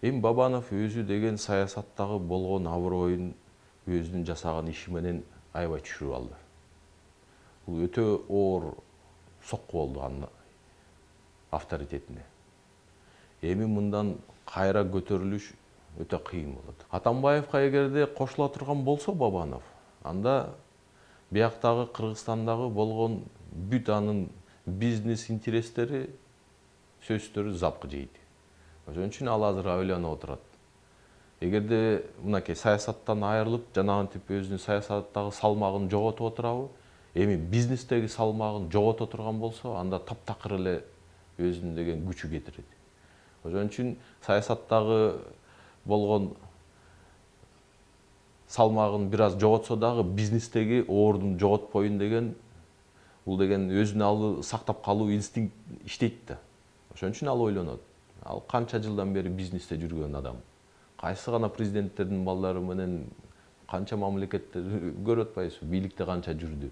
Эми Бабанов өзү деген саясаттагы болгон аброюн өзүнүн жасаган иши менен аябай түшүрүп алды. Бул өтө оор сокку болду анын авторитетине. Эми мындан кайра көтөрүлүш өтө кыйын болот. Атамбаевка эгерде кошула турган болсо Бабанов, анда бияктагы Кыргызстандагы болгон бүт анын бизнес интерестери, сөзсүздөрү запкы жейт. Ошон үчүн ал азыр ойлонуп отурат. Эгерде мынакей саясаттан айрылып, жанагынтип өзүнүн саясаттагы салмагын жоготуп отурабы, эми бизнестеги салмагын жогото турган болсо, анда таптакыр эле өзүнүн деген күчү кетирет. Ошон үчүн саясаттагы болгон салмагын бир аз жоготсо дагы бизнестеги ордун жоготпоюн деген, бул деген өзүн алы сактап калуу инстинкт иштейт да. Ошон үчүн ал ойлонот. Ал канча жылдан бери бизнесте жүргөн адам. Кайсы гана президенттердин балдары менен канча мамлекетте көрүп атпайсызбы, бийликте канча жүрдү.